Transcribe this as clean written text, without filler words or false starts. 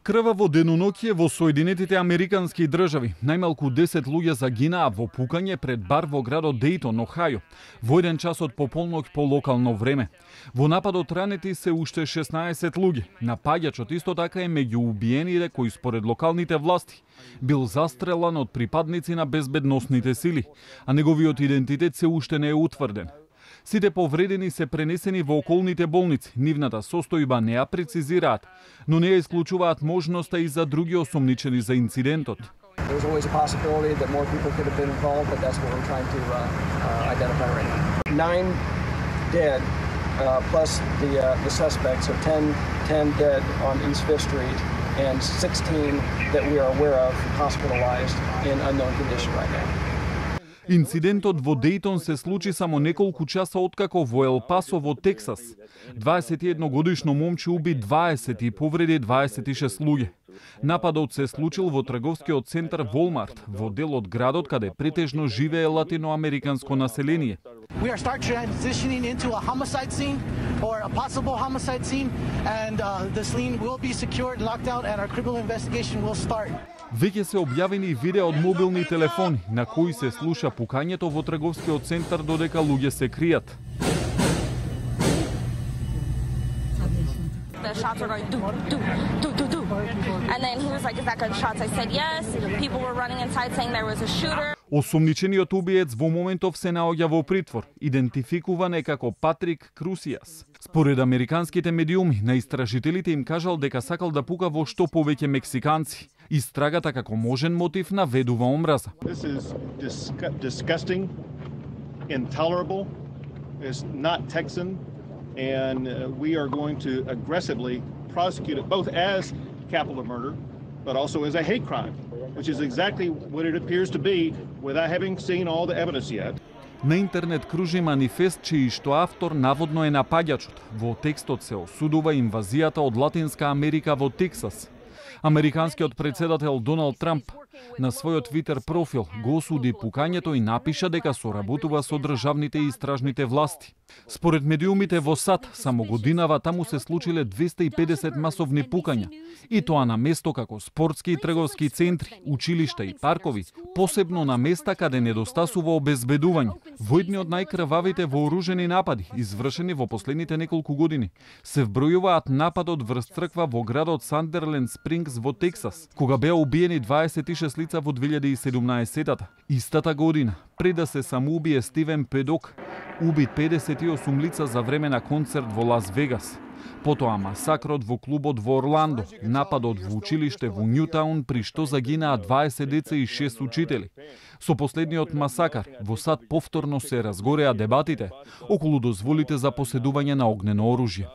Крваво денонокие во Соединетите Американски држави. Најмалку 10 луѓе загинаа во пукање пред бар во градот Дејтон, Охајо, во 1 час од пополноќ по локално време. Во нападот ранети се уште 16 луѓе. Напаѓачот исто така е меѓу убиените кои според локалните власти бил застрелан од припадници на безбедносните сили, а неговиот идентитет се уште не е утврден. Сите повредени се пренесени во околните болници. Нивната состојба не ја прецизираат, но не ја исклучуваат можноста и за други осомничени за инцидентот. There's always a possibility that more people could have been involved, but that's what we're trying to identify right now. 9 dead, plus the suspects, so 10 dead on East 5th Street, and 16 that we are aware of hospitalized in unknown condition right now. Инцидентот во Дејтон се случи само неколку часа откако во Ел Пасо во Тексас 21 годишно момче уби 20 и повреди 26 луѓе. Нападот се случил во трговскиот центар Волмарт, во дел од градот каде претежно живее латиноамериканско население. We are start transitioning into a homicide scene or a possible homicide scene, and the scene will be secured, locked out, and our criminal investigation will start. Веќе се објавени видеа од мобилни телефони на кои се слуша пукањето во трговскиот центар додека луѓе се кријат. The shots were going do do do do do, and then he was like, "Is that gunshots?" I said yes. People were running inside saying there was a shooter. Осомничениот убиец во моментов се наоѓа во притвор, идентификуван е како Патрик Крусијас. Според американските медиуми, на истражителите им кажал дека сакал да пука во што повеќе мексиканци. Истрагата како можен мотив наведува омраза. This is disgusting, intolerable. It's not Texan, and we are going to aggressively prosecute it both as capital murder, but also as a hate crime, which is exactly what it appears to be without having seen all the evidence yet. На интернет кружи манифест чиј што автор наводно е напаѓачот. Во текстот се осудува инвазијата од Латинска Америка во Тексас. Американскиот председател Доналд Трамп на својот Твитер профил го осуди пукањето и напиша дека соработува со државните и истражните власти. Според медиумите во САД, само годинава таму се случиле 250 масовни пукања, и тоа на место како спортски и трговски центри, училишта и паркови, посебно на места каде недостасува обезбедување. Во едни од најкрвавите вооружени напади, извршени во последните неколку години, се вбројуваат нападот врз црква во градот Сандерленд Спрингс во Тексас, кога беа убиени 26 лица во 2017-та. Истата година, пред да се самоубие Стивен Педок, убит 58 лица за време на концерт во Лас Вегас. Потоа масакрот во клубот во Орландо, нападот во училиште во Нјутаун при што загинаа 20 деца и 6 учители. Со последниот масакар во САД повторно се разгореа дебатите околу дозволите за поседување на огнено оружје.